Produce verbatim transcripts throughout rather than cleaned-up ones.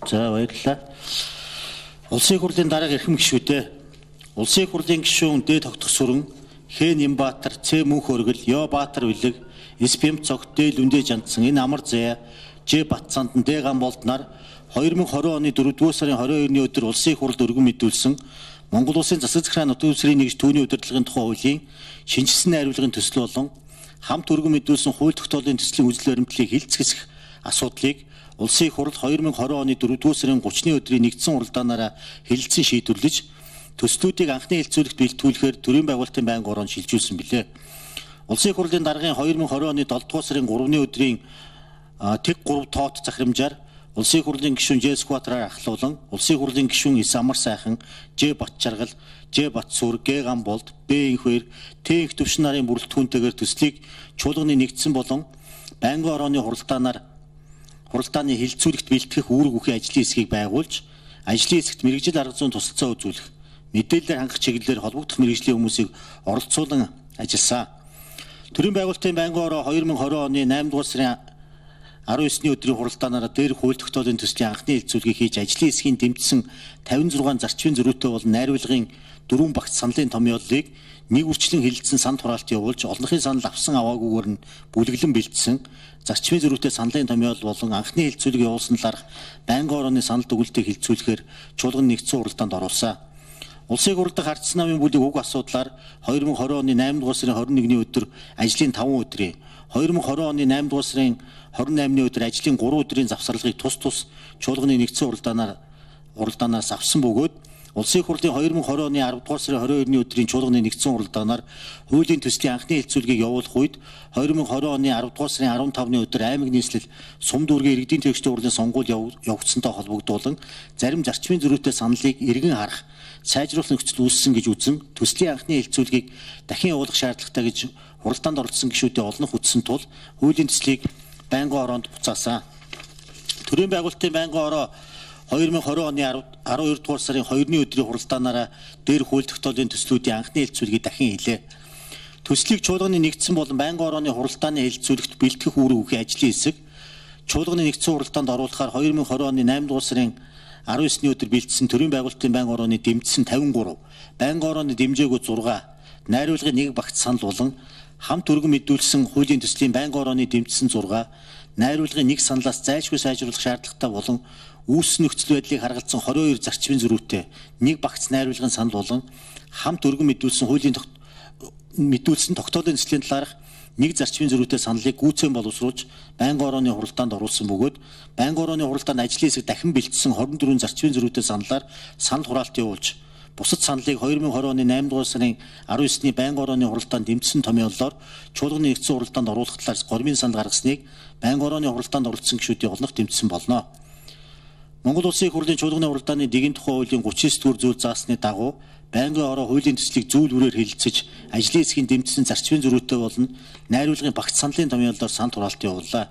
За баярлалаа. Улсын хурлын дарга эрхэм гишүүдээ. Улсын хурлын гишүүн Д тогтох сүрэн, Х Нямбаатар, Ц Мөнх өргөл, Ё Баатар Билэг, С Пэм цогт, Д Лүндэ Жандсан, энэ Амар Зая, Ж Батцаанд, Д Гамболд нар хоёр мың и двадцать оны дөрөвдүгээр сарын двадцать хоёрны өдөр улсын хурлд өргөн мэдүүлсэн Монгол улсын засаг захиргааны нутгийн үсрийн нэгж түүний удирдлагын тухай хуулийн шинжилсэн найруулгын төсөл болон хамт өргөн мэдүүлсэн хууль тогтоолын төслийн үзэл баримтлалыг хилцэх асуудлыг улсын хурал хоёр мың и двадцать оны дөрөвдүгээр сарын гуравны өдрийн нэгдсэн уралдаанаараа хэлэлцэн шийдвэрлэж төслүүдийг анхны хэлцүүлэгт бэлтгүүлэхээр төрийн байгуулалтын байнгын ороонд шилжүүлсэн билээ. Улсын хурлын даргын хоёр мың и двадцать оны долдугаар сарын гуравны өдрийн тэг гурав тоот захирамжаар улсын хурлын гишүүн Ж Скватраар ахлуулан улсын хурлын гишүүн С Амар сайхан, Ж Батчаргал, Ж Батсүр, Г Гамболд, Б Инхвэр, Т их төвшин нарын бүрэлдэхүүнтэйгээр төслийг чуулганы нэгдсэн болон байнгын орооны хуралдаанаар хуралдааны хилцүүлэгт бэлтгэх үүрэг бүхий ажлын хэсгийг байгуулж, ажлын хэсэгт мэргэжил арга зүйн тусалцаа үзүүлэх, мэдээлэлээр хангах чиглэлээр холбогдох мэргэжлийн хүмүүсийг оролцуулан ажилласан. Төрийн байгуулалтын байнгын ороо хоёр мың и двадцать оны наймдугаар сарын арван есүний өдрийн хуралдаанаараа дээр хууль тогтоолын төслийн анхны хэлцүүлгийг хийж ажлын хэсгийн дэмжсэн тавин зургаан зарчмын зөрүүтэй болон найруулгын дөрвөн багц саналын томьёоллыг нэг үрчлэн хэлэлцсэн санд хураалт явуулж олонхын санал авсан аваагүйгээр нь бүлэглэн бэлдсэн зарчмын зөрүүтэй саналын томьёол болон анхны хэлцүүлэг явуулсан талаарх байнгын орооны санал дүгнэлтийг хэлцүүлэхээр чуулганы нэгдсэн уралдаанд оруулсан. Улсын хурлд хардсан намын бүлэг уг асуудлаар хоёр мың и двадцать оны наймдугаар сарын двадцать нэгний өдөр ажлын таван өдрийн, хоёр мың и двадцать оны наймдугаар сарын двадцать наймны өдөр ажлын гурван өдрийн завсарлагыг тус тус чуулганы нэгдсэн уралдаанаар уралдаанаас авсан бөгөөд улсын хурлын хоёр мың и двадцать оны аравдугаар сарын двадцать хоёрны өдрийн чуулганы нэгдсэн уралдаанаар хуулийн төслийн анхны хэлцүүлгийг явуулах үед хоёр мың и двадцать оны аравдугаар сарын арван тавны өдөр аймаг нийслэл сум дүүргийн иргэдийн төвчдийн хурлын сонгуул явагдсантай холбогдуулан зарим зарчмын зөрүүтэй саналыг эргэн харах сайжруулах нөхцөл үүссэн гэж үзэн төслийн анхны хэлцүүлгийг дахин явуулах шаардлагатай гэж хуралдаанд оролцсон гишүүдийн олонх үтсэн тул хуулийн төслийг байнгын ороонд буцаасан. Төрийн байгуулалтын байнгын ороо хоёр мың и двадцать оны арван хоёрдугаар сарын хоёрны өдрийн хуралдаанаараа дээр хууль тогтоолын төслүүдийн анхны хэлцүүлгийг дахин хийлээ. Төслийг чуулганы нэгдсэн болон байнгын орооны хуралдааны хэлцүүлэгт бэлтгэх үүрэг бүхий ажлын хэсэг чуулганы нэгдсэн уралдаанд оруулахаар хоёр мың и двадцать оны наймдугаар сарын арван есүний өдөр бэлдсэн төрийн байгуулалтын байнгын орооны дэмжсэн тавин гурав, байнгын орооны дэмжээгүй зургаан, найруулгын нэг багц санал болон хамт өргөн мэдүүлсэн хуулийн төслийн байнгын орооны дэмжсэн зургаан, найруулгын нэг саналаас зайлшгүй сайжруулах шаардлагатай болон үүссэн нөхцөл байдлыг харгалзсан двадцать хоёр зарчмын зөрүүтэй нэг багц найруулгын санал болон хамт өргөн мэдүүлсэн хуулийн мэдүүлсэн тогтоолын төслийн талаарх нэг зарчмын зөрүүтэй саналыг гүйцэн боловсруулж байнгын орооны хуралдаанд оруулсан бөгөөд байнгын орооны хуралдаанд ажлын хэсэг дахин бэлдсэн двадцать дөрвөн зарчмын зөрүүтэй саналаар санал хураалт явуулж бусад саналыг хоёр мың и двадцать оны наймдугаар сарын арван есүний байнгын орооны хуралдаанд дэмжсэн томьёоллоор чуулганы нэгдсэн уралдаанд оруулах талаар гормын санал гаргасныг байнгын орооны хуралдаанд оролцсон гишүүдийн олонх дэмжсэн болно. Монгол Улсын хурлын чуулганы уралдааны дэгийн тухай хуулийн гуравч дэх зүйл заасны дагуу байнгын ороо хуулийн төслийг зүйл бүрээр хэлэлцэж ажлын хэсгийн дэмжсэн зарчмын зөрүүтэй болон найруулгын багц саналын томьёоллоор санд хураалт явууллаа.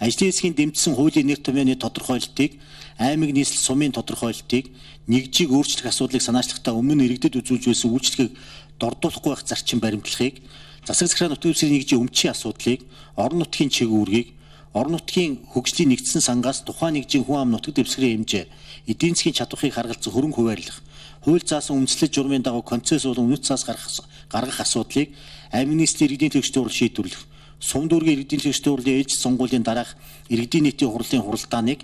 Ажлын хэсгийн дэмжсэн хуулийн нэр томьёоны тодорхойлолтыг аймаг нийслэл сумын тодорхойлолтыг нэгжийг өөрчлөх асуудлыг санаачлагтаа өмнө нь иргэдэд үзүүлж байсан үйлчлэгийг дордуулахгүй байх зарчим баримтлахыг засаг захиргааны нутгийн үсрийн нэгжийн өмчийн асуудлыг орон нутгийн чиг үүргийг орон нутгийн хөгжлийн нэгдсэн сангаас тухайн нэгжийн хүн ам нутаг дэвсгэрийн хэмжээ эдийн засгийн чадварыг харгалзан хөрөнгө хуваарлах хууль заасан үндэслэл журмын дагуу концесс болон үнэт цаас гаргах гаргах асуудлыг аймаг нийслэлийн иргэдийн төвчдийн хурал шийдвэрлэх сум дүүргийн иргэдийн төвчдийн хурлын ээлж сонгуулийн дараах иргэдийн нийтийн хурлын хуралдааныг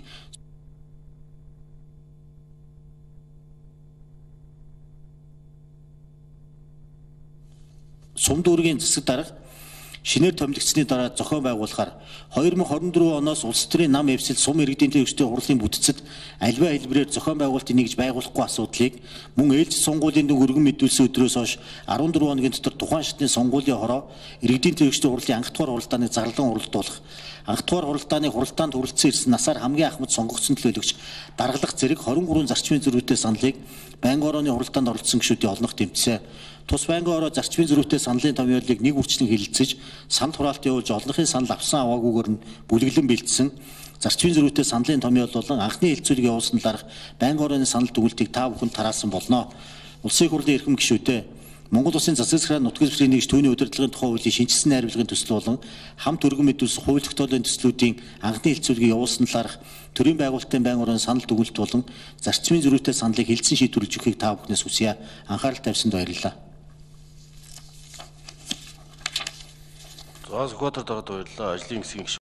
сум дүүргийн засаг дарга шинээр томилогдсны дараа зохион байгуулахаар хоёр мың и двадцать дөрвөн оноос улс төрийн нам эвсэл сум иргэдийн төвчдийн хурлын бүтцэд альва хэлбэрээр зохион байгуулалтын нэгж байгуулахгүй асуудлыг мөн ээлж сонгуулийн дүн өргөн мэдүүлсэн өдрөөс хойш арван дөрвөн хоногийн дотор тухайн шатны сонгуулийн хороо иргэдийн төвчдийн хурлын анх дугаар хуралдааныг зарлан уралдуулах, анх дугаар хуралдааны хуралдаанд хүрэлцэн ирсэн насаар хамгийн ахмад сонгогдсон төлөөлөгч даргалах зэрэг двадцать trois зарчмын зөрүүтэй саналыг байнгын орооны хуралдаанд оролцсон гишүүдийн олонх дэмжсэн. Тус байнгын ороо зарчмын зөрүүтэй саналын томьёолыг нэг үрчлэн хэлэлцэж санд хураалт явуулж олонхын санал авсан аваагүйгээр нь бүлэглэн бэлдсэн зарчмын зөрүүтэй саналын томьёол болон анхны хэлцүүлэг явуулсан талаарх байнгын орооны санал дүгнэлтийг та бүхэнд тараасан болно. Улсын хурлын эрхэм гишүүдээ Монгол Улсын засаг захиргааны нутаг дэвсгэрийн нэгж түүний удирдлагын тухай хуулийн шинжилсэн найруулгын төсөл болон хамт өргөн мэдүүлсэн хууль тогтоолын төслүүдийн анхны хэлцүүлгийг явуулсан талаарх төрийн байгуулалтын байнгын орон санал дүгнэлт болон зарчмын зөрүүтэй саналыг хэлтсэн шийдвэрлэж өгөхийг та бүхнээс хүсье. Анхаарал тавьсанд баярлалаа. За зөвхөн дараад баярлалаа. Ажлын хэсгийн